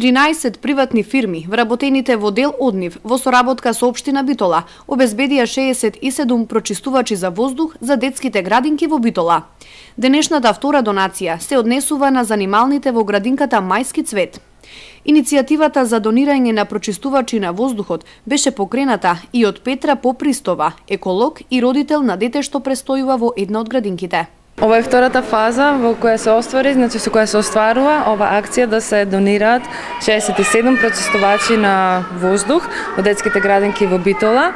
13 приватни фирми, вработените во дел од нив, во соработка со општина Битола, обезбедија 67 прочистувачи за воздух за детските градинки во Битола. Денешната втора донација се однесува на занималните во градинката Мајски цвет. Иницијативата за донирање на прочистувачи на воздухот беше покрената и од Петра Попристова, еколог и родител на дете што престојува во една од градинките. Ова е втората фаза во која се оствари, со која се остварува ова акција да се донираат 67 прочистувачи на воздух во детските градинки во Битола.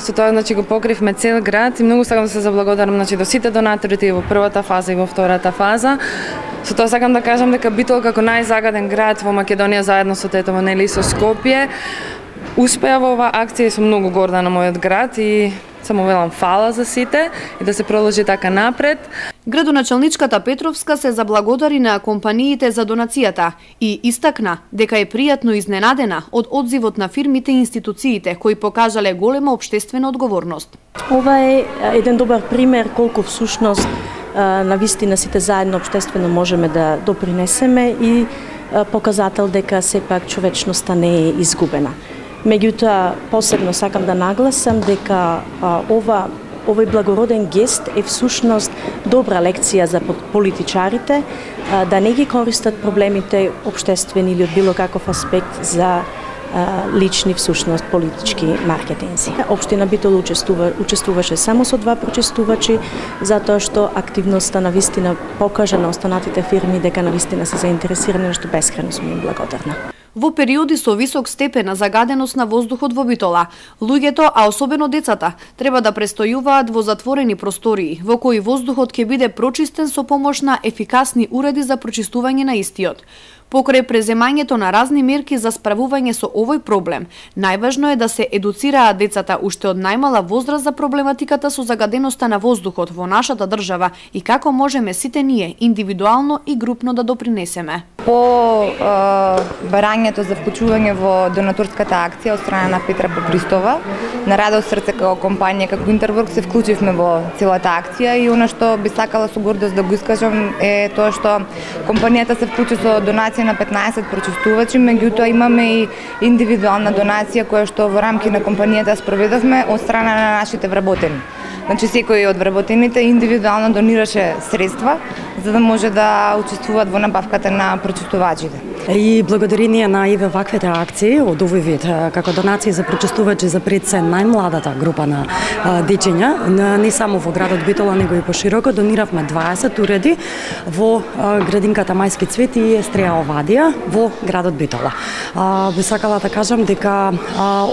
Со тоа го покривме цел град и многу сакам да се заблагодарам до сите донатори и во првата фаза и во втората фаза. Со тоа сакам да кажам дека Битола како најзагаден град во Македонија заедно со Тетово, нели и со Скопје, успеа во оваа акција и сум многу горда на мојот град и само велам фала за сите и да се продолжи така напред. Градоначалничката Петровска се заблагодари на компаниите за донацијата и истакна дека е пријатно изненадена од одзивот на фирмите и институциите кои покажале голема општествена одговорност. Ова е еден добар пример колку всушност навистина сите заедно општествено можеме да допринесеме и показател дека сепак човечноста не е изгубена. Меѓутоа, посебно сакам да нагласам дека овој благороден гест е всушност добра лекција за политичарите да не ги користат проблемите општествени или од било каков аспект за лични всушност политички маркетинзи. Општина Битола учествуваше само со 2 прочистувачи, затоа што активноста навистина покажа на останатите фирми дека навистина се заинтересирани, што бескрајно сум им благодарна. Во периоди со висок степен на загаденост на воздухот во Битола, луѓето, а особено децата, треба да престојуваат во затворени простории, во кои воздухот ќе биде прочистен со помош на ефикасни уреди за прочистување на истиот. Покрај преземањето на разни мерки за справување со овој проблем, најважно е да се едуцираат децата уште од најмала возраст за проблематиката со загаденоста на воздухот во нашата држава и како можеме сите ние индивидуално и групно да допринесеме. По барањето за вклучување во донаторската акција од страна на Петра Попристова, на Радо срце како компанија, како Интерворк се вклучивме во целата акција и она што би сакала со гордост да го искажам е тоа што компанијата се вклучи со донација на 15 прочистувачи, меѓутоа имаме и индивидуална донација која што во рамки на компанијата спроведовме од страна на нашите вработени. Значи секој од вработените индивидуално донираше средства за да може да учествуваат во набавката на прочистувачите. И благодарение на еве ваквите акции од овој вид, како донации за прочистувачи за пред се најмладата група на дечиња, не само во градот Битола, него и пошироко, дониравме 20 уреди во градинката Мајски цвет и Естреја Овадија во градот Битола. Би сакала да кажам дека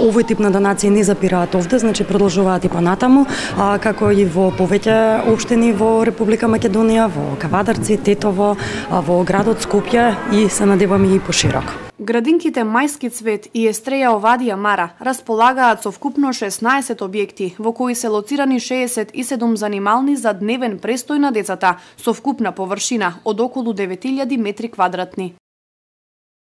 овој тип на донации не запираат овде, значи продолжуваат и понатаму, како и во повеќе општини во Република Македонија, во Кавадарци, Тетово, во градот Скопје и се надеваме и пошироко. Градинките Мајски цвет и Естреја Овадија Мара располагаат со вкупно 16 објекти, во кои се лоцирани 67 занимални за дневен престој на децата, со вкупна површина од околу 9000 метри квадратни.